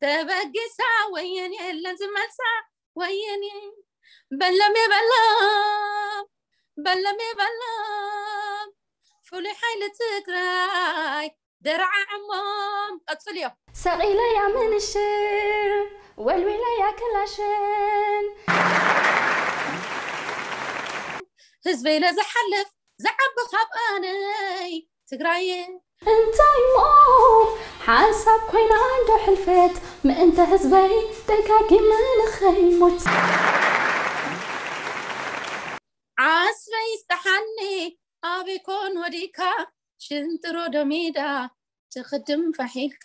ተበጊሳ ወየን የለን ዝመልሳ ወየን በለም የበለም በለም የበለም ፍሉይ ሓይሊ ትግራይ ደራዓዕሞም ቀፅልዮ ሰቒለያ ምንሽር ወልዊለያ ክላሽን ህዝበይ ለዝሓልፍ ዝዓቢ ካብ ኣነይ ትግራየ እንታይ እሞ ሓንሳብ ኮይና እንዶ ሕልፈት ምእንተ ህዝበይ ደጋጊመ ንኸይሞት ዓስበይ ይስጠሓኒ ኣበይ ኮን ወዲካ ሽንጥሮ ዶሜዳ ትኽድም ፋሒልካ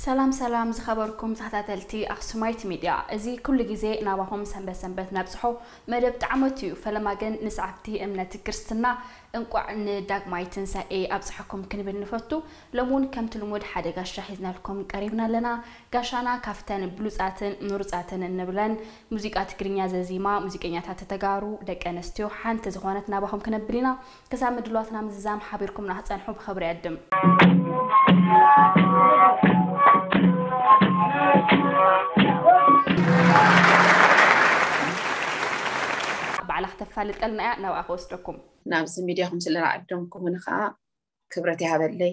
ሰላም ሰላም ዝኸበርኩም ተኸታተልቲ ኣክሱማይት ሚድያ፣ እዚ ኩሉ ግዜ ናባኹም ሰንበት ሰንበት ነብፅሖ መደብ ጣዕመት እዩ። ፈለማ ግን ንሰዓብቲ እምነት ክርስትና እንቋዕ ንዳግማይ ትንሳኤ ኣብፅሐኩም ክንብል ንፈቱ። ሎሚ እውን ከምቲ ልሙድ ሓደ ጋሻ ሒዝናልኩም ቀሪብና ኣለና። ጋሻና ካብተን ብሉፃትን ምሩፃትን እንብለን ሙዚቃ ትግርኛ ዘዚማ ሙዚቀኛታት ተጋሩ ደቂ ኣንስትዮ ሓንቲ ዝኾነት ናባኹም ክነብል ኢና። ክሳብ ምድላዋትና ምዝዛም ሓቢርኩምና ክትፀንሑ ብኽብሪ ይዕድም። ባዕላ ክተፋልጠልና እያ፣ ናብኣ ክወስደኩም። ናብዚ ሚድያኹም ስለዝዓደምኩምኒ ከዓ ክብረት ይሃበለይ፣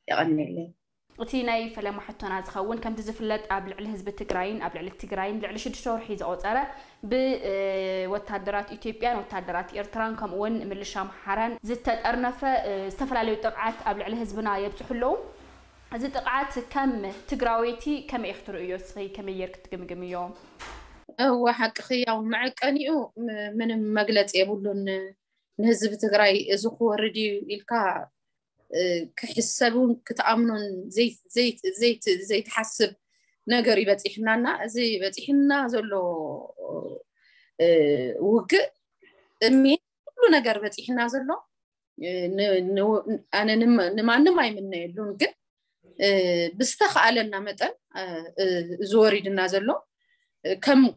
የቐንየለይ። እቲ ናይ ፈለማ ሕቶና ዝኸውን፣ ከምቲ ዝፍለጥ ኣብ ልዕሊ ህዝቢ ትግራይን ኣብ ልዕሊ ትግራይን ልዕሊ ሽዱሽተ ወርሒ ዘቖፀረ ብወታደራት ኢትዮጵያን ወታደራት ኤርትራን ከምኡ እውን ምልሻ ኣምሓራን ዝተጠርነፈ ዝተፈላለዩ ጥቕዓት ኣብ ልዕሊ ህዝብና የብፅሑ ኣለዉ። እዚ ጥቕዓት ከም ትግራወይቲ ከመይ ኢኺ ትርእዮ? እስኺ ከመይ ጌርኪ ትግምግምዮ? እወ ሓቅኺ፣ ያው መዐቀኒኡ ምንም መግለፂ የብሉን። ንህዝቢ ትግራይ እዚ ክወርድ እዩ ኢልካ ክሕሰብ እውን ክትኣምኖን ዘይትሓስብ ነገር እዩ በፂሕና እና እዚ በፂሕና ዘሎ ውግእ ጥሜት ኩሉ ነገር በፂሕና ዘሎ ኣነ ንማንም ኣይምነየሉን፣ ግን ብዝተኽኣለና መጠን እዚ ወሪድና ዘሎ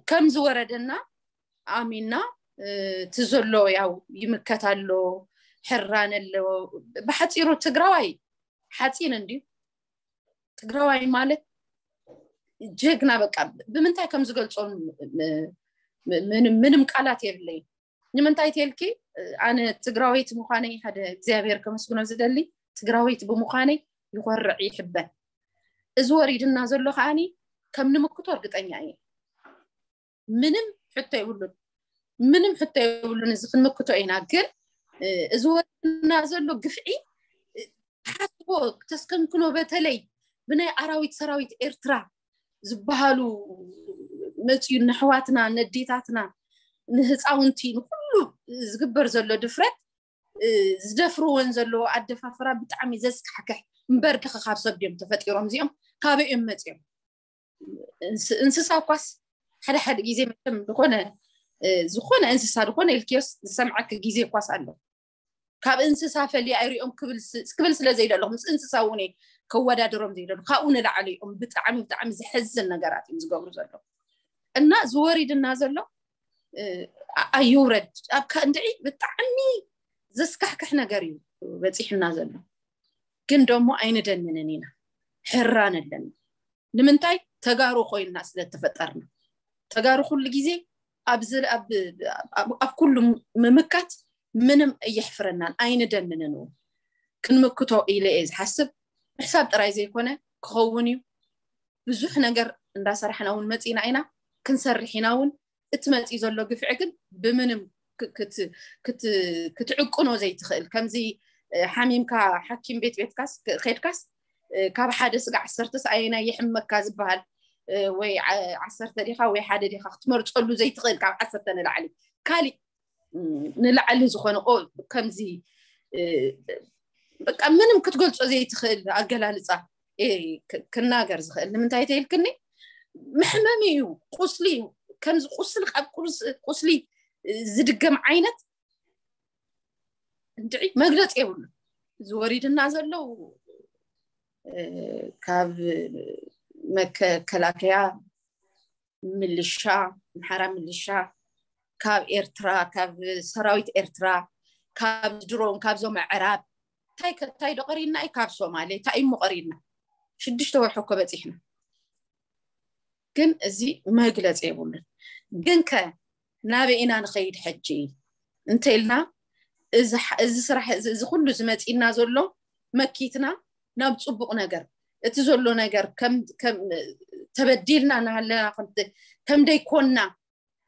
ከም ዝወረደና ኣሚና እቲ ዘሎ ያው ይምከት ኣሎ፣ ሕራን ኣሎ። ብሓፂሩ ትግራዋይ ሓፂን እንድዩ። ትግራዋይ ማለት ጀግና፣ በቃ ብምንታይ ከም ዝገልፆ ምንም ቃላት የብለይን። ንምንታይ ተልኪ ኣነ ትግራወይቲ ምዃነይ ሓደ እግዚኣብሔር ከመስግኖ ዝደሊ፣ ትግራወይቲ ብምዃነይ ይኾርዕ ይሕበን። እዚ ወሪድና ዘሎ ከዓኒ ከም ንምክቶ እርግጠኛ እየ። ምንም ሕቶ የብሉን፣ ምንም ሕቶ የብሉን። እዚ ክንምክቶ ኢና። ግን እዚ ወሪድና ዘሎ ግፍዒ ሓስቦ ተስተንክኖ፣ በተለይ ብናይ ኣራዊት ሰራዊት ኤርትራ ዝበሃሉ መፅዩ ነሕዋትና ነዴታትና ንህፃውንቲ ንኩሉ ዝግበር ዘሎ ድፍረት ዝደፍርወን ዘለዎ ኣደፋፍራ ብጣዕሚ ዘስካሕክሕ። እምበር ድኸ ካብ ሰብ ድዮም ተፈጢሮም እዚኦም? ካበይ እዮም መፅዮም? እንስሳ እኳስ ሓደ ሓደ ግዜ መቸም ዝኾነ ዝኾነ እንስሳ ዝኾነ ኢልክዮስ ዝሰምዓክ ግዜ እኳስ ኣሎ። ካብ እንስሳ ፈልየ ኣይሪኦም ክብል ስለ ዘይደለኹ ምስ እንስሳ እውን ከወዳድሮም ዘይደሉ ካብኡ ንላዕሊ እዮም። ብጣዕሚ ብጣዕሚ ዘሕዝን ነገራት እዮም ዝገብሩ ዘለዉ እና ዝወሪድና ዘሎ ኣይውረድ ኣብ እንድዒ ብጣዕሚ ዘስካሕክሕ ነገር እዩ በፂሕና ዘሎ። ግን ደሞ ኣይንደንንን ኢና፣ ሕራን ኣለና። ንምንታይ ተጋሩ ኮይንና ስለተፈጠርና። ተጋሩ ኩሉ ግዜ ኣብ ኩሉ ምምካት ምንም እየሕፍረናን ኣይንደንንን እውን። ክንምክቶ ኢለ እየ ዝሓስብ። ምሕሳብ ጥራይ ዘይኮነ ክኸውን እዩ። ብዙሕ ነገር እንዳሰራሕና እውን መፂና ኢና፣ ክንሰርሕ ኢና እውን። እቲ መፂኡ ዘሎ ግፍዒ ግን ብምንም ክትዕቅኖ ዘይትኽእል፣ ከምዚ ሓሚምካ ሓኪም ቤት ቤትካስ ኬድካስ ካብ ሓደ ስጋዕ ዓሰርተስ ኣየናይ የሕመካ ዝበሃል ወይ ዓሰርተ ዲኻ ወይ ሓደ ዲኻ ክትመርፀሉ ዘይትኽእል፣ ካብ ዓሰርተ ንላዕሊ ካሊእ ንላዕሊ ዝኾነ ከምዚ በቃ ምንም ክትገልፆ ዘይትኽእል ኣገላልፃ ክናገር ዝኽእል። ንምንታይ ተይልክኒ? መሕመሚ እዩ፣ ቁስሊ እዩ። ከምዚ ቁስሊ ካብ ቁስሊ ዝድገም ዓይነት እንድዒ መግለፂ የብሉ። ዝወሪድና ዘለዉ ካብ መከላከያ ምልሻ፣ ኣምሓራ ምልሻ፣ ካብ ኤርትራ፣ ካብ ሰራዊት ኤርትራ፣ ካብ ድሮን፣ ካብዞም ኣዕራብ፣ እንታይ ከ-፣ እንታይ ዶ ቀሪና እዩ? ካብ ሶማሌ እንታይ እሞ ቀሪና? ሽዱሽተ ወርሒ እኮ በፂሕና። ግን እዚ መግለፂ የብሉን። ግን ከ ናበይ ኢና ንኸይድ ሕጂ እንተኢልና፣ እዚ ሕ-፣ እዚ ስራሕ እዚ፣ እዚ ኩሉ ዝመፂና ዘሎ መኪትና ናብ ፅቡቕ ነገር፣ እቲ ዘሎ ነገር ከም፣ ከም ተበዲልና እናሃለና፣ ከም፣ ከም ደይኮንና፣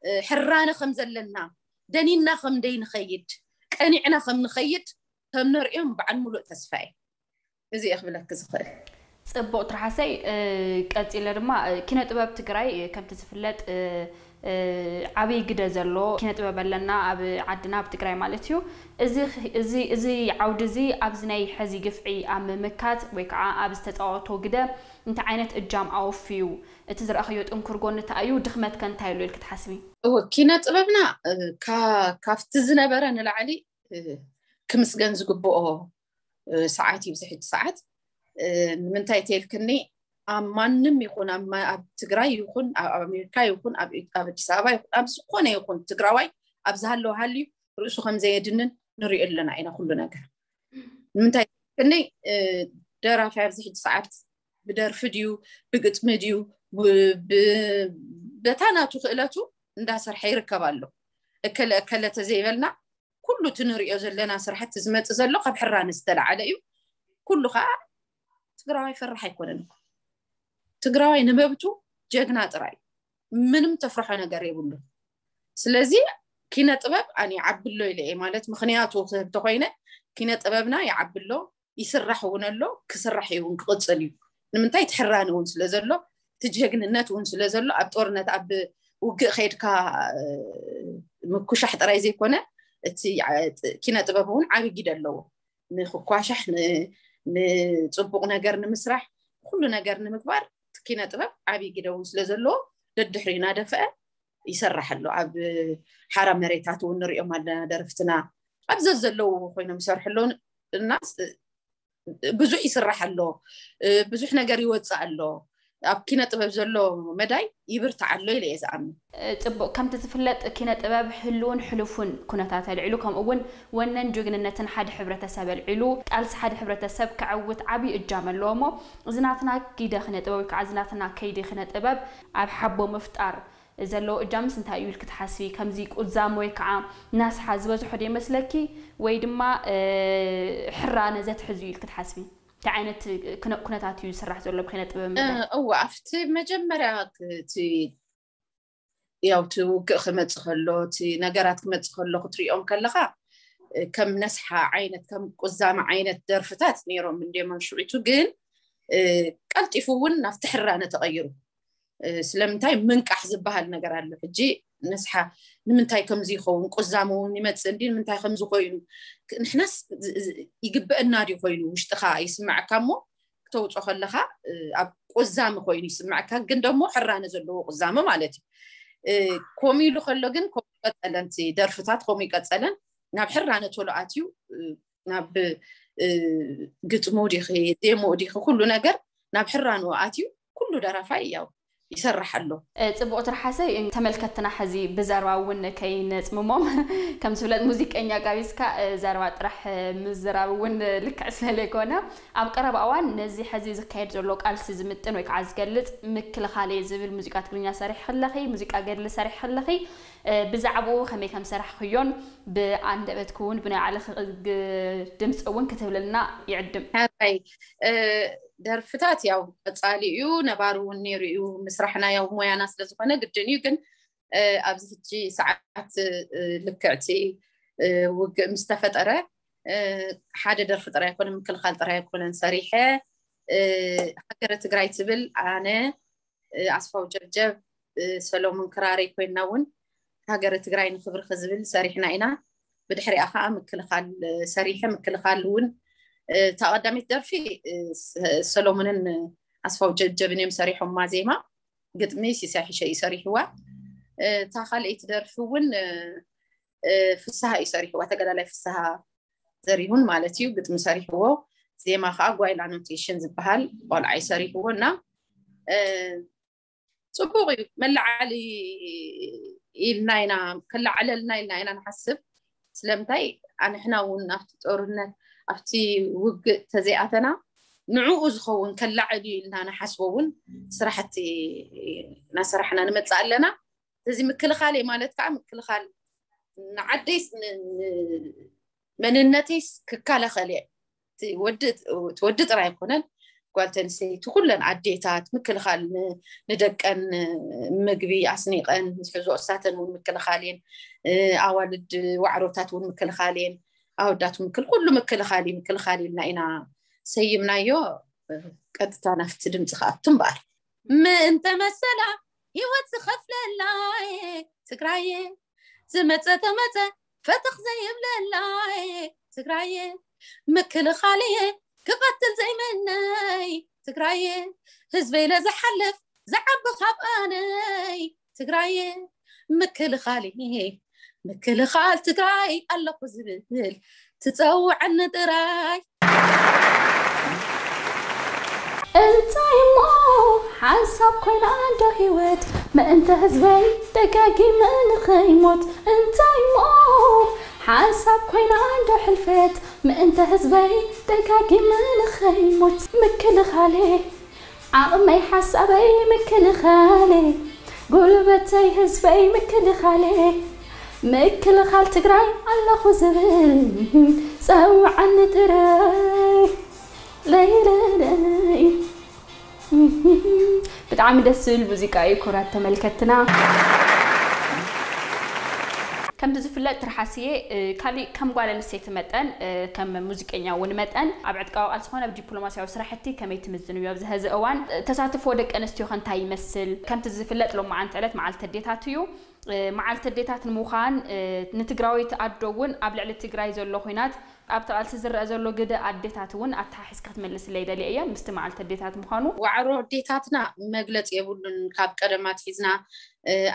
እ፣ ሕራነ ከም ዘለና፣ ደኒና ከም ደይንኸይድ፣ ቀኒዕና ከም ንኸይድ ከም ነርእዮም በዓል ሙሉእ ተስፋ እየ። እዚ እየ ክብለኪ ዝኽእል። ጽቡቕ ትርሓሰይ። እ፣ ቀጺለ ድማ፣ እ፣ ኪነ ጥበብ ትግራይ፣ እ፣ ከምቲ ዝፍለጥ፣ እ፣ እ፣ ዓብይ ግደ ዘሎ ኪነ ጥበብ ኣለና ኣብ ዓድና፣ ኣብ ትግራይ ማለት እዩ። እዚ፣ እዚ፣ እዚ ዓውዲ እዚ ኣብዚ ናይ ሕዚ ግፍዒ ኣብ ምምካት ወይ ከዓ ኣብ ዝተፃወቶ ግደ እንታይ ዓይነት እጃም ኣወፍዩ? እቲ ዝረኣኽዮ ጥንኩር ጎኒ እንታይ እዩ? ድኽመት ከ እንታይ ኣሎ ኢልኪ ትሓስቢ? እወ፣ ኪነ ጥበብና፣ እ፣ ካ-፣ ካብቲ ዝነበረ ንላዕሊ፣ እ፣ ክምስገን ዝግብኦ፣ እ፣ ሰዓት እዩ፣ እዚ ሕጂ ሰዓት። እ፣ ንምንታይ ተልክኒ፣ ኣብ ማንም ይኹን፣ ኣብ ማ-፣ ኣብ ትግራይ ይኹን፣ ኣብ፣ ኣብ ኣሜሪካ ይኹን፣ ኣብ፣ ኣብ ኣዲስ ኣበባ ይኹን፣ ኣብ ዝኾነ ይኹን ትግራዋይ ኣብ ዝሃለወ ሃልዩ ርእሱ ከም ዘየድንን ንሪኦ ኣለና ኢና ኩሉ ነገር። ንምንታይ ተልክኒ፣ እ፣ ደራፊ ኣብዚ ሕጂ ሰዓት ብደርፊ ድዩ፣ ብግጥሚ ድዩ፣ ብ-፣ ብ-፣ በታ ናቱ ክእለቱ እንዳሰርሐ ይርከብ ኣሎ። እከለ፣ እከለ ተዘይበልና፣ ኩሉ እቲ ንሪኦ ዘለና ስራሕቲ ዝመጽእ ዘሎ ካብ ሕራነ ዝተለዓለ እዩ። ኩሉ ከዓ ትግራዋይ ፈራሕ ኣይኮነን እኮ። ትግራዋይ ንመብቱ ጀግና ጥራይ እዩ። ምንም ተፍርሖ ነገር የብሉን። ስለዚ ኪነ ጥበብ ኣነ ይዓቢ ኣሎ ኢለ እየ፣ ማለት ምኽንያቱ ክህብ ተኾይነ፣ ኪነ ጥበብና ይዓቢ ኣሎ፣ ይስራሕ እውን ኣሎ፣ ክስራሕ እዩ እውን ክቕጽል እዩ። ንምንታይ? እቲ ሕራነ እውን ስለ ዘሎ፣ እቲ ጀግንነት እውን ስለ ዘሎ፣ ኣብ ጦርነት፣ ኣብ ውግእ ከይድካ፣ እ፣ ምኩሻሕ ጥራይ ዘይኮነ፣ እቲ ዓ-፣ ጥ-፣ ኪነ ጥበብ እውን ዓቢ ግደ ኣለዎ። ንክኳሻሕ፣ ን-፣ ንጽቡቕ ነገር ንምስራሕ፣ ኩሉ ነገር ንምግባር እቲ ኪነ ጥበብ ዓቢ ግደ እውን ስለ ዘለዎ፣ ደድሕሪ እናደፍአ ይሰርሕ ኣሎ። ኣብ ሓራ መሬታት እውን ንሪኦም ኣለና ደረፍትና። ኣብ ዘዘለዉ ኮይኖም ይሰርሑ ኣለዉ እና ስ-፣ ብዙሕ ይስራሕ ኣሎ። እ፣ ብዙሕ ነገር ይወፅእ ኣሎ። ኣብ ኪነ ጥበብ ዘሎ መዳይ ይብርታዕ ኣሎ ኢለ እየ ዝኣምን። እ፣ ጽቡቕ። ከምቲ ዝፍለጥ ኪነ ጥበብ ህልውን ሕሉፉን ኩነታት ኣልዒሉ፣ ከምኡ እውን ወነን ጅግንነትን ሓደ ሕብረተሰብ ኣልዒሉ፣ ቃልሲ ሓደ ሕብረተሰብ ከዕውት ዓቢ እጃም ኣለዎ እሞ፣ እዚ ናትና ጊደ ኪነ ጥበብ ወይ ከዓ እዚ ናትና ከይዲ ኪነ ጥበብ ኣብ ሓቦ ምፍጣር ዘለዎ እጃምስ እንታይ እዩ ኢልኪ ትሓስቢ? ከምዚ ቁዛም ወይ ከዓ ናስሓ ዝበዝሖ ዶ ይመስለኪ? ወይ ድማ፣ እ፣ ሕራነ ዘትሕዝ እዩ ኢልኪ ትሓስቢ? እንታይ ዓይነት ክነ-፣ ኩነታት እዩ ዝስራሕ ዘሎ ብኪነ ጥበብ እ፣ መዳይ? እወ፣ ኣብቲ መጀመርያ ክ-፣ እቲ ያው እቲ ውግእ ክመጽእ ከሎ፣ እቲ ነገራት ክመጽእ ከሎ ክትሪኦም ከለኻ፣ እ፣ ከም ነስሓ ዓይነት፣ ከም ቁዛመ ዓይነት ደርፍታት ነይሮም እንድዮም ኣብ ሽዑቱ፣ ግን፣ እ፣ ቀልጢፉ እውን ናብቲ ሕራነ ተቐይሩ። እ፣ ስለምንታይ ምንቃሕ ዝበሃል ነገር ኣሎ። ሕጂ ነስሓ ንምንታይ ከምዚ ይኸውን? ቁዛመ እውን ይመጽእ እንዲ፣ ንምንታይ ከምዚ ኮይኑ? ክ-፣ ንሕናስ ዝ-፣ ዝ-፣ ይግበአና ድዩ ኮይኑ ውሽጥኻ ይስምዓካ እሞ፣ ክተውጾ ከለኻ፣ እ፣ ኣብ ቁዛመ ኮይኑ ይስምዓካ፣ ግን ደሞ ሕራነ ዘለዎ ቁዛመ ማለት እዩ። እ፣ ከምኡ ኢሉ ከሎ ግን ከምኡ ይቀጸለን፣ እቲ ደርፍታት ከምኡ ይቀጸለን፣ ናብ ሕራነ ቶሎ ኣትዩ፣ እ፣ ናብ፣ እ፣ ግጥሙ ዲኺ፣ ዜምኡ ዲኺ፣ ኩሉ ነገር ናብ ሕራንኡ ኣትዩ፣ ኩሉ ደራፋይ ያው ይሰርሕ ኣሎ። እ፣ ጽቡቕ ትርሓሰይ፣ ተመልከትና ሕዚ ብዘረባ እውን ከይነጽምሞም። ከም ዝፍለጥ ሙዚቀኛ ጋቢዝካ፣ እ፣ ዘረባ ጥራሕ፣ እ፣ ምዝራብ እውን ልክዕ ስለ ዘይኮነ፣ ኣብ ቀረባ እዋን ነዚ ሕዚ ዝካየድ ዘሎ ቃልሲ ዝምጥን ወይ ከዓ ዝገልጽ ምክልኻል እየ ዝብል ሙዚቃ ትግርኛ ሰሪሕኺ ኣለኺ፣ ሙዚቃ ገድሊ ሰሪሕኺ ኣለኺ። እ፣ ብዛዕባኡ ከመይ ከም ሰራሕኽዮን ብኣንደበትኪ እውን ብናይ ባዕልኺ ግ-፣ ድምፂ እውን ክትብልልና ይዕድም። ሕራይ፣ እ፣ ደርፍታት ያው ቀጻሊ እዩ፣ ነባሪ እውን ነይሩ እዩ። ምስራሕና ያው ሞያና ስለ ዝኾነ ግድን እዩ። ግን፣ እ፣ ኣብዚ ሕጂ ሰዓት፣ እ፣ ልክዕቲ፣ እ፣ ውግእ ምስ ተፈጠረ፣ እ፣ ሓደ ደርፊ ጥራይ ኣይኮነን፣ ምክልኻል ጥራይ ኣይኮነን ሰሪሐ። እ፣ ሃገረ ትግራይ ትብል ኣነ፣ እ፣ ኣስፋው ጀብጀብ፣ እ፣ ሰሎሞን ክራረይ ኮይንና እውን ሃገረ ትግራይ ንኽብርኺ ዝብል ሰሪሕና ኢና። ብድሕሪኣ ከዓ ምክልኻል፣ እ፣ ሰሪሐ። ምክልኻል እውን፣ እ፣ እታ ቀዳመይቲ ደርፊ፣ እ፣ ስ-፣ ሰሎሞንን፣ እ፣ ኣስፋው ጀብጀብን እዮም ሰሪሖማ ዜማ። ግጥሚ ሲሳይ ሕሸ እዩ ሰሪሕዋ። እ፣ እታ ካልኣይቲ ደርፊ እውን፣ እ፣ እ፣ ፍስሃ እዩ ሰሪሕዋ። ተጋዳላይ ፍስሃ ዘሪሁን ማለት እዩ ግጥሚ ሰሪሕዎ። ዜማ ከዓ ጓይላ ኖቴሽን ዝበሃል ቆልዓ እዩ ሰሪሕዎ እና፣ እ፣ ፅቡቅ እዩ። መላዓሊ ኢልና ኢና፣ ከላዓለልና ኢልና ኢና ንሓስብ። ስለምንታይ ኣንሕና እውን ኣብቲ ጦርነት ኣብቲ ውግእ ተዘይኣተና ንዕኡ ዝኸውን ከላዕል እዩ ኢልና ንሓስቦ እውን ስራሕቲ እናሰራሕና ንመፅእ ኣለና። እዚ ምክልኻል ማለት ከዓ ምክልኻል ንዓደይስ መንነተይስ ክከላኸል እየ። እቲ ወዲ ጥራይ ኣይኮነን፣ ጓል ተንስተይቲ ኩለን ኣዴታት ምክልኻል ንደቀን ምግቢ ኣስኒቀን ዝሕዞ እሳተን እውን ምክልኻል እየን። ኣዋልድ ዋዕሮታት እውን ምክልኻል እየን። ኣወዳት ምክል ኩሉ ምክልኻል እዩ። ምክልኻል ኢልና ኢና ሰይምናዮ። ቀጥታ ናፍቲ ድምፂ ክኣቱ እምበኣር። ምእንተ መሰላ ህይወት ዝኸፍለላ ትግራየ ዝመፀ ተመፀ ፈተኽ ዘይብለላ ትግራየ ምክልኻልየ ክቐትል ዘይምነይ ትግራየ ህዝበይ ለዝሓልፍ ዝዓቢ ካብ ኣነይ ትግራየ ምክልኻልየ ምክልኻል ትግራይ ኣለኹ ዝብል ትፀውዐኒ ጥራይ። እንታይ እሞ ሓንሳብ ኮይና እንዶ ህይወት ምእንተ ህዝበይ ደጋጊመ ንኸይሞት እንታይ እሞ ሓንሳብ ኮይና እንዶ ሕልፈት ምእንተ ህዝበይ ደጋጊመ ንኸይሞት ምክልኻሌ ዓቕመይ ሓሳበይ ምክልኻሌ ጉልበተይ ህዝበይ ምክልኻሌ ምክልኻል ትግራይ ኣለኹ ዝብል ፀውዓኒ ጥራይ ለይለለይ ብጣዕሚ ደስ ዝብል ሙዚቃ እዩ። ክቡራት ተመልከትና፣ ከምቲ ዝፍለጥ ትርሓስየ ካሊእ ከም ጓል ኣንስተይቲ መጠን ከም ሙዚቀኛ እውን መጠን ኣብ ዕጥቃዊ ቃልሲ ኮነ ኣብ ዲፕሎማሲያዊ ስራሕቲ ከመይ ትምዝንዮ? ኣብዚ ሀዚ እዋን ተሳትፎ ደቂ ኣንስትዮ ከ እንታይ ይመስል? ከምቲ ዝፍለጥ ሎማዓንቲ ዕለት መዓልቲ ኣዴታት እዩ። መዓልቲ ኣዴታት ንምዃን ንትግራወይቲ ኣዶ እውን ኣብ ልዕሊ ትግራይ ዘሎ ኹናት ኣብቲ ቃልሲ ዝረአ ዘሎ ግደ ኣዴታት እውን ኣተሓሒዝካ ክትመልስለይ ደልየ እየ ምስቲ መዓልቲ ኣዴታት ምዃኑ። ዋዕሮ ኣዴታትና መግለፂ የብሉን። ካብ ቀደም ኣትሒዝና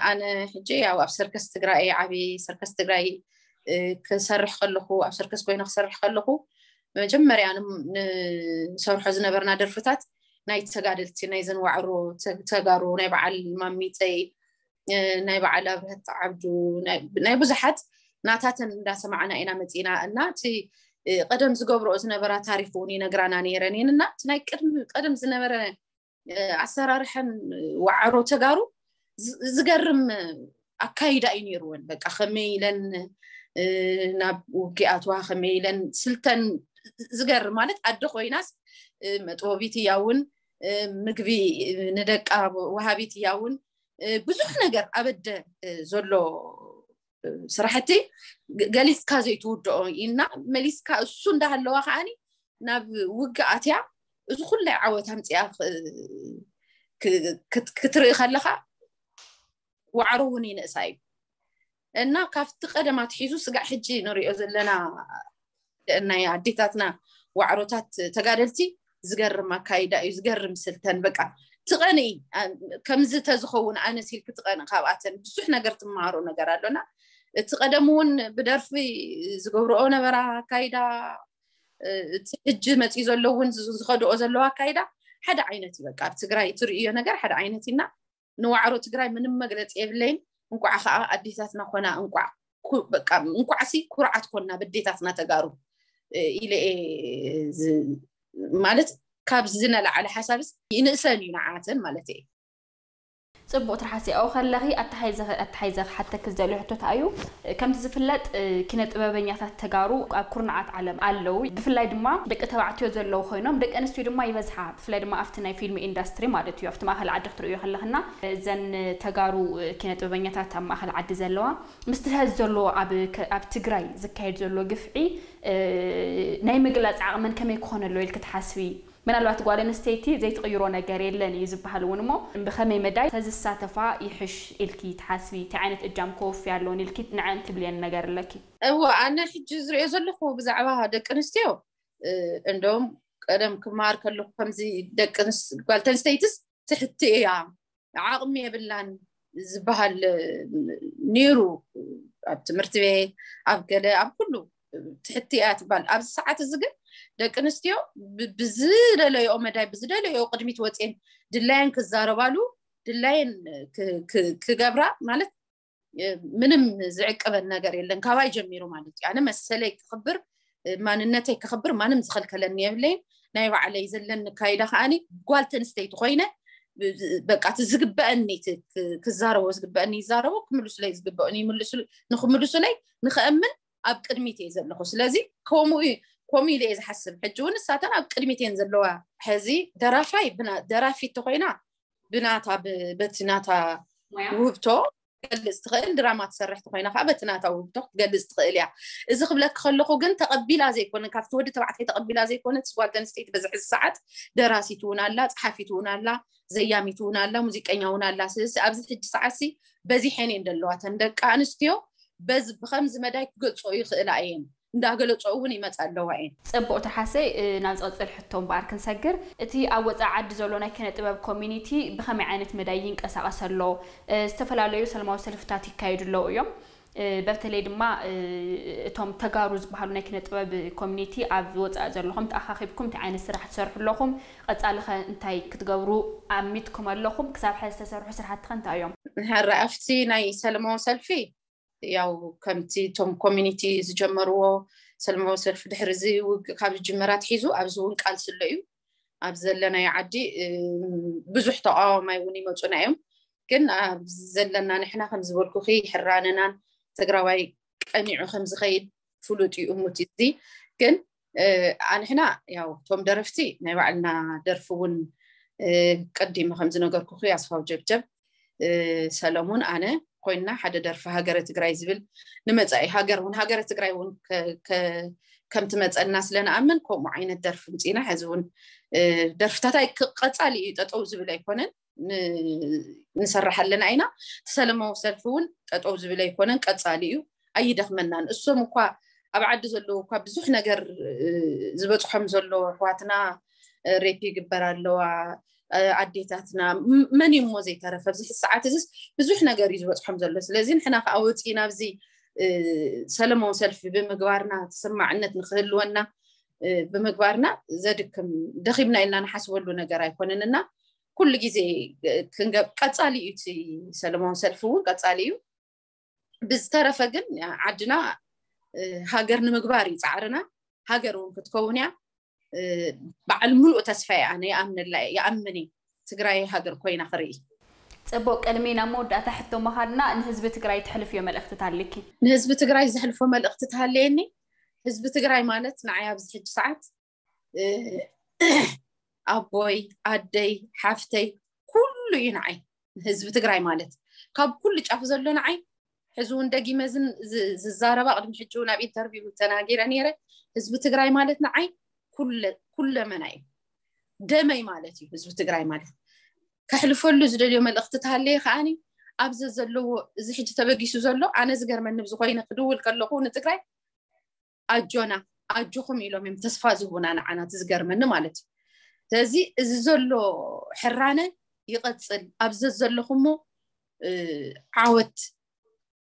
ኣነ ሕጂ ያው ኣብ ሰርከስ ትግራይ ዓብየ ሰርከስ ትግራይ ክሰርሕ ከለኹ ኣብ ሰርከስ ኮይነ ክሰርሕ ከለኹ መጀመርያ ንሰርሖ ዝነበርና ደርፍታት ናይ ተጋደልቲ ናይዘን ዋዕሮ ተጋሩ ናይ በዓል ማሚፀይ ናይ በዓል ኣብርሀት ዓብዱ ናይ ብዙሓት ናታተን እንዳሰማዕና ኢና መፂና እና እቲ ቀደም ዝገብረኦ ዝነበራ ታሪክ እውን ይነግራና ነይረን እየን እና እቲ ናይ ቅድሚ ቀደም ዝነበረ ኣሰራርሐን ዋዕሮ ተጋሩ ዝገርም ኣካይዳ እዩ ነይርወን። በቃ ከመይ ኢለን ናብ ውግእ ኣትዋ ከመይ ኢለን ስልተን ዝገርም ማለት ኣደ ኮይናስ መጥበቢት እያ እውን ምግቢ ንደቃ ወሃቢት እያ እውን ብዙሕ ነገር ኣብ ኣደ ዘሎ ስራሕቲ ገሊፅካ ዘይትውድኦ እና መሊስካ እሱ እንዳሃለዋ ከዓኒ ናብ ውግእ ኣትያ እዚ ኩላይ ዓወት ኣምፅኣ ክትርኢ ከለካ ዋዕሮ እውን ይንእሳ እዩ እና ካብቲ ቀደም ኣትሒዙ ስጋዕ ሕጂ ንሪኦ ዘለና ናይ ኣዴታትና ዋዕሮታት ተጋደልቲ ዝገርም ኣካይዳ እዩ ዝገርም ስልተን በቃ ትቐንኢ ከምዚ ተዝኸውን ኣነስ ኢልክ ትቐንእ ካብኣተን ብዙሕ ነገር ትመሃሮ ነገር ኣሎና እቲ ቀደም እውን ብደርፊ ዝገብርኦ ነበራ ኣካይዳ እቲ ሕጂ መፂኡ ዘሎ እውን ዝኸድኦ ዘለዎ ኣካይዳ ሓደ ዓይነት እዩ በቃ ኣብ ትግራይ ትርእዮ ነገር ሓደ ዓይነት እና ንዋዕሮ ትግራይ ምንም መግለፂ የብለይን እንቋዕ ከዓ ኣዴታትና ኮና እንቋዕ በቃ እንቋዕሲ ኩርዓት ኮና በዴታትና ተጋሩ ኢለ ማለት ካብ ዝነላዓለ ሓሳብስ ይንእሰን እዩ ንዓተን ማለት እየ ፅቡቅ ትርሓስኦ ከለኺ ኣተሓይዘ ክሓተክ ዝደልዮ ሕቶታ እዩ ከምቲ ዝፍለጥ ኪነ ጥበበኛታት ተጋሩ ኣብ ኩርናዓት ዓለም ኣለዉ ብፍላይ ድማ ደቂ ተባዕትዮ ዘለዉ ኮይኖም ደቂ ኣንስትዮ ድማ ይበዝሓ ብፍላይ ድማ ኣብቲ ናይ ፊልም ኢንዳስትሪ ማለት እዩ ኣብቲ ማእኸል ዓዲ ክትርእዮ ከለኽና እዘን ተጋሩ ኪነ ጥበበኛታት ኣብ ማእኸል ዓዲ ዘለዋ ምስቲ ሀዚ ዘለዎ ኣብ ትግራይ ዝካየድ ዘሎ ግፍዒ ናይ ምግላፅ ዓቕመን ከመይ ክኾነሎ ኢልክ ትሓስቢ ምናልባት ጓል ኣንስተይቲ ዘይትቕይሮ ነገር የለን እዩ ዝበሃል እውን እሞ ብኸመይ መዳይ ተዝሳተፋ ይሕሽ ኢልኪ ትሓስቢ እንታይ ዓይነት እጃም ከወፊ ኣለውን ኢልኪ ንዐን ትብልየን ነገር ኣለኪ እወ ኣነ ሕጂ ዝሪኦ ዘለኹ ብዛዕባ ደቂ ኣንስትዮ እንደውም ቀደም ክመሃር ከለኹ ከምዚ ደቂ ጓል ተንስተይትስ ትሕቲ እያ ዓቕሚ የብላን ዝበሃል ነይሩ ኣብ ትምህርቲ ቤት ኣብ ገለ ኣብ ኩሉ ትሕቲ እያ ትባል ኣብዚ ሰዓት እዚ ግን ደቂ ኣንስትዮ ብዝደለዮ መዳይ ብዝደለዮ ቅድሚት ወፅየን ድላየን ክዛረባሉ ድላየን ክገብራ ማለት ምንም ዝዕቀበን ነገር የለን። ካባይ ጀሚሩ ማለት እዩ። ኣነ መሰለይ ክኽብር፣ ማንነተይ ክኽብር ማንም ዝኸልከለኒ የብለይን። ናይ ባዕለይ ዘለኒ ካይዳ ከዓኒ ጓል ተንስተይቲ ኮይነ በቃ እቲ ዝግበአኒ ክዛረቦ ዝግበአኒ ይዛረቦ፣ ክምልሱለይ ዝግበአኒ ንኽምልሱለይ ንኽእምን ኣብ ቅድሚት እየ ዘለኹ። ስለዚ ከምኡ ከምኡ ኢለ እየ ዝሓስብ። ሕጂ እውን እሳተን ኣብ ቅድሚት እየን ዘለዋ። ሕዚ ደራፋይ ደራፊት ተኮይና ብናታ በቲ ናታ ውህብቶ ክትገልፅ ትኽእል፣ ድራማ ትሰርሕ ተኮይና ከዓ በቲ ናታ ውህብቶ ክትገልፅ ትኽእል እያ። እዚ ክብለክ ከለኹ ግን ተቐቢላ ዘይኮነ፣ ካብቲ ወዲ ተባዕታይ ተቐቢላ ዘይኮነ፣ እቲ ጓል ኣንስተይቲ በዚ ሕዚ ሰዓት ደራሲት እውን ኣላ፣ ፀሓፊት እውን ኣላ፣ ዘያሚት እውን ኣላ፣ ሙዚቀኛ እውን ኣላ። ስለዚ ኣብዚ ሕጂ ሰዓት ሲ በዚሐን እየን ዘለዋ። ተን ደቂ ኣንስትዮ በዚ ብከምዚ መዳይ ክገልፅኦ ይኽእላ እየን፣ እንዳገለፅኦ እውን ይመፃ ኣለዋ እየን። ፅቡቅ ትሓሰይ። ናብ ዝቕፅል ሕቶ እምበኣር ክንሰግር፣ እቲ ኣብ ወፃኢ ዓዲ ዘሎ ናይ ኪነ ጥበብ ኮሚኒቲ ብኸመይ ዓይነት መዳይ ይንቀሳቐስ ኣሎ? ዝተፈላለዩ ሰላማዊ ሰልፍታት ይካየዱ ኣለዉ እዮም። በተለይ ድማ እቶም ተጋሩ ዝበሃሉ ናይ ኪነ ጥበብ ኮሚኒቲ ኣብ ወፃኢ ዘለኹም ተኣኻኺብኩም እንታይ ዓይነት ስራሕ ትሰርሑ ኣለኹም? ቀፃሊ ኸ እንታይ ክትገብሩ ኣሚትኩም ኣለኹም? ክሳብ ሕዚ ዝተሰርሑ ስራሕቲ ኸ እንታይ እዮም? ሕራይ ኣብቲ ናይ ሰለማዊ ሰልፊ ያው ከምቲ እቶም ኮሚኒቲ ዝጀመርዎ ሰለማዊ ሰልፊ ድሕሪ እዚ ውግእ ካብ ዝጅመር ኣትሒዙ ኣብዚ እውን ቃልሲ ኣሎ እዩ። ኣብ ዘለናዮ ዓዲ ብዙሕ ተቃዋማይ እውን ይመፁና እዮም። ግን ኣብ ዘለና ንሕና ከም ዝበልኩኺ ሕራነናን ትግራዋይ ቀኒዑ ከም ዝኸይድ ፍሉጥ እዩ እሙት እዚ። ግን ኣንሕና ያው እቶም ደረፍቲ ናይ ባዕልና ደርፊ እውን ቀዲመ ከም ዝነገርኩኺ ኣስፋው ጀብጀብ ሰለሙን ኣነ ኮይንና ሓደ ደርፊ ሃገረ ትግራይ ዝብል ንመፃኢ ሃገር እውን ሃገረ ትግራይ እውን ከም ትመፀና ስለ ንኣምን ከምኡ ዓይነት ደርፊ ምፅኢና። ሕዚ እውን ደርፍታት ቀፃሊ እዩ፣ ጠጠው ዝብል ኣይኮነን። ንሰርሕ ኣለና ኢና። እቲ ሰለማዊ ሰልፊ እውን ጠጠው ዝብል ኣይኮነን፣ ቀፃሊ እዩ፣ ኣይደኽመናን። እሶም እኳ ኣብ ዓዲ ዘለዉ እኳ ብዙሕ ነገር ዝበፅሖም ዘሎ ኣሕዋትና ሬፕ ይግበር ኣለዋ ኣዴታትና፣ መን እዩ እሞ ዘይተረፈ? ኣብዚ ሰዓት እዚስ ብዙሕ ነገር እዩ ዝበፅሖም ዘሎ። ስለዚ ንሕና ከዓ ወፂና ኣብዚ ሰለማዊ ሰልፊ ብምግባርና ተሰማዕነት ንክህልወና ብምግባርና ዘድክም፣ ደኺምና ኢልና ንሓስበሉ ነገር ኣይኮነን እና ኩሉ ግዜ ቀፃሊ እዩ። እቲ ሰለማዊ ሰልፊ እውን ቀፃሊ እዩ። ብዝተረፈ ግን ዓድና ሃገር ንምግባር እዩ ፃዕርና። ሃገር እውን ክትከውን እያ። በዓል ሙሉእ ተስፋ እየ ኣነ፣ ይኣምነላ እየ፣ ይኣምን እየ ትግራይ ሃገር ኮይና ክርኢ። ፅቡቅ፣ ቅድሚ ናብ መወዳእታ ሕቶ ምኻድና ንህዝቢ ትግራይ ተሕልፍዮ መልእክትታት ኣለኪ? ንህዝቢ ትግራይ ዘሕልፎ መልእክቲ ተሃለየኒ፣ ህዝቢ ትግራይ ማለት ንዓይ ኣብዚ ሕጂ ሰዓት ኣቦይ፣ ኣደይ፣ ሓፍተይ፣ ኩሉ እዩ ንዓይ። ህዝቢ ትግራይ ማለት ካብ ኩሉ ጫፍ ዘሎ ንዓይ ሕዚ እውን ደጊመ ዝዛረባ ቅድሚ ሕጂ እውን ኣብ ኢንተርቪው ተናጊረ ነይረ። ህዝቢ ትግራይ ማለት ንዓይ ኩለመና እዩ፣ ደመይ ማለት እዩ። ህዝቢ ትግራይ ማለት ከሕልፈሉ ዝደልዮ መልእክቲ ተሃለየ ከዓኒ ኣብዚ ዘለዎ እዚ ሕጂ ተበጊሱ ዘሎ ኣነ ዝገርመኒ ብዝኮይነ ክድውል ከለኩ ንትግራይ ኣጆና ኣጆኹም ኢሎም እዮም ተስፋ ዝህቡና ንዓና። እቲ ዝገርመኒ ማለት እዩ። ስለዚ እዚ ዘሎ ሕራነ ይቐፅል። ኣብዚ ዘለኹሞ ዓወት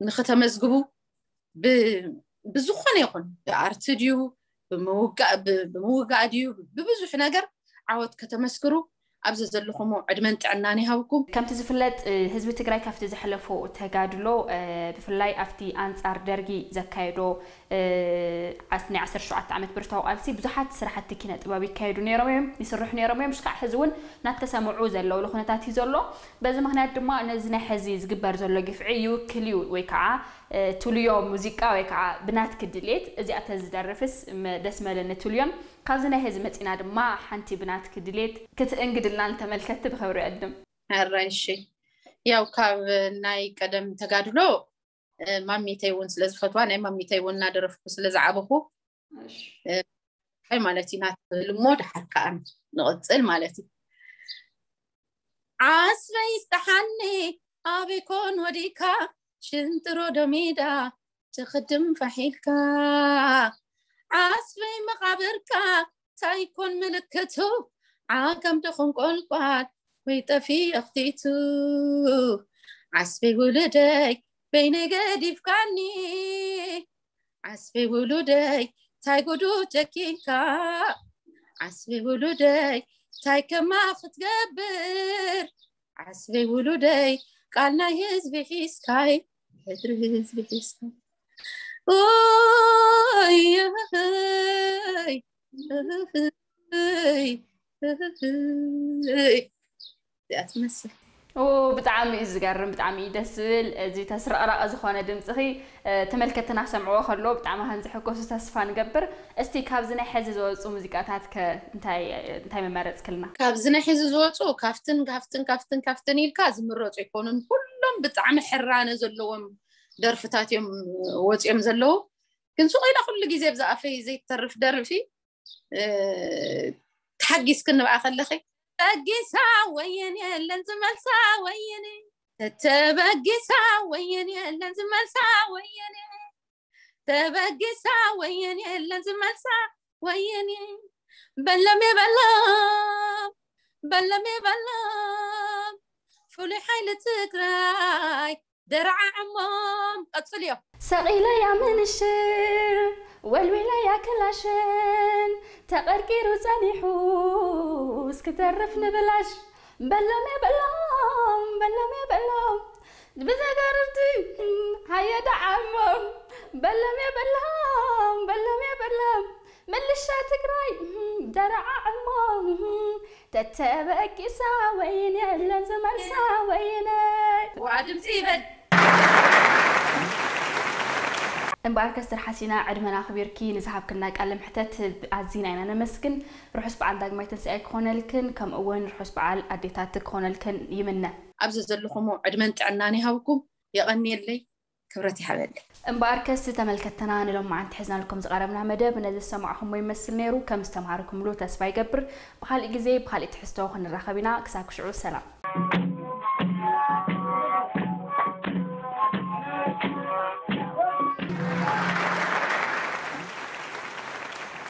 ንክተመዝግቡ ብዝኾነ ይኹን ብኣርቲ ድዩ ብምውጋእ ድዩ ብብዙሕ ነገር ዓወት ከተመስክሩ ኣብዚ ዘለኹሞ ዕድመን ጥዕናን ይሃብኩም። ከምቲ ዝፍለጥ ህዝቢ ትግራይ ካብቲ ዘሕለፎ ተጋድሎ ብፍላይ ኣብቲ ኣንፃር ደርጊ ዘካየዶ ናይ ዓሰርተ ሸውዓተ ዓመት ብርታዊ ቃልሲ ብዙሓት ስራሕቲ ኪነ ጥበብ ይካየዱ ነይሮም እዮም፣ ይስርሑ ነይሮም እዮም። ሽካዕ ሕዚ እውን እናተሰምዑ ዘለውሉ ኩነታት እዩ ዘሎ። በዚ ምክንያት ድማ ነዚ ናይ ሕዚ ዝግበር ዘሎ ግፍዒ ይውክል እዩ ወይ ከዓ ትልዮ ሙዚቃ ወይ ከዓ ብናትኪ ድሌት እዚኣ ተዝደርፍስ ደስ መለኒ ትልዮን ካብዚ ናይ ሕዚ መፂና ድማ ሓንቲ ብናትኪ ድሌት ክትእንግድልና ንተመልከቲ ብክብሪ ዕድም። ሕራይ እሺ። ያው ካብ ናይ ቀደም ተጋድሎ ማሚተይ እውን ስለዝፈትዋ ናይ ማሚተይ እውን እናደረፍኩ ስለዝዓበኹ ይ ማለት እዩ ናትብል እሞ ድሓር ከዓ ንቕፅል ማለት እዩ። ዓስበይ ስጠሓኒ ኣበይ ኮን ወዲካ ሽንጥሮ ዶሜዳ ትኽድም ፋሒልካ ዓስበይ መቓብርካ ታይኮን ምልክቱ ዓጋም ደኹን ቆልቋል ወይ ጠፊ ኣኽቲቱ ዓስበይ ውሉደይ በይነይ ገዲፍካኒ ዓስበይ ውሉደይ ታይ ጉዱ ጨኪንካ ዓስበይ ውሉደይ ታይ ከማ ክትገብር ዓስበይ ውሉደይ ቃል ናይ ህዝቢ ሒዝካይ ሕድሪ ህዝቢ ሒዝካይ ኦይ እዚኣ ትመስል። ብጣዕሚ እዩ ዝገርም፣ ብጣዕሚ እዩ ደስ ዝብል። እዚ ተስረቕረቐ ዝኾነ ድምፅኺ ተመልከትና ክሰምዕዎ ከለዎ ብጣዕሚ ከም ዝሕጎሱ ተስፋ ንገብር። እስቲ ካብዚ ናይ ሕዚ ዝወፁ ሙዚቃታት ከ እንታይ እንታይ መመረፅክልና? ካብዚ ናይ ሕዚ ዝወፁ ካፍትን ካፍትን ካፍትን ካፍትን ኢልካ ዝምረፁ ኣይኮኑን። ኩሎም ብጣዕሚ ሕራነ ዘለዎም ደርፍታት እዮም ወፂኦም ዘለዉ። ግን ሱቕ ኢላ ኩሉ ግዜ ብዝኣፈይ ዘይትተርፍ ደርፊ ተሓጊስክኒ ብኣ ከለኺ ተበጊሳ ወየን የለን ዝመልሳ ወየን ተተበጊሳ ወየን የለን ዝመልሳ ወየን ተበጊሳ ወየን የለን ዝመልሳ ወየን በለሜ በሎም በለሜ በሎም ፍሉይ ሓይሊ ትግራይ ደረዓዕሞም ቀፅልዮ ሰቒለያ ምንሽር ወልዊለያ ክላሽን ተቐርቂሩ ጸኒሑ እስክተርፍ ንብላሽ በሎም የበሎም በሎም የበሎም ብዘገርርቲ ሃየ ደዓሞም በሎም የበሎም በሎም የበሎም ምልሻ ትግራይ ደረዓዕሞም ተተበቂሳ ወይን የለን ዝመልሳ ወይነ ዋ ድምፂ ይበል እምበኣርከስ ትርሓሲና ዕድመና ኣኽቢርኪ ንዝሃብክና ቃለ ምሕተት ኣዚና ኢና ነመስግን። ርሑስ በዓል ዳግማይ ትንሳኤ ክኾነልክን ከምኡ እውን ርሑስ በዓል ኣዴታት ክኾነልክን ይምነ። ኣብዚ ዘለኹሞ ዕድመን ጥዕናን ይሃብኩም። የቐንየለይ። ክብረት ይሃበለይ። እምበኣርከስ ተመልከትትና ንሎማዓንቲ ሒዝናልኩም ዝቐረብና መደብ ነዚ ዝሰማዕኹሞ ይመስል ነይሩ። ከም ዝተምሃርኩምሉ ተስፋ ይገብር። ብኻልእ ግዜ ብኻልእ ትሕዝቶ ክንራኸብ ኢና። ክሳብ ክሽዑ ሰላም።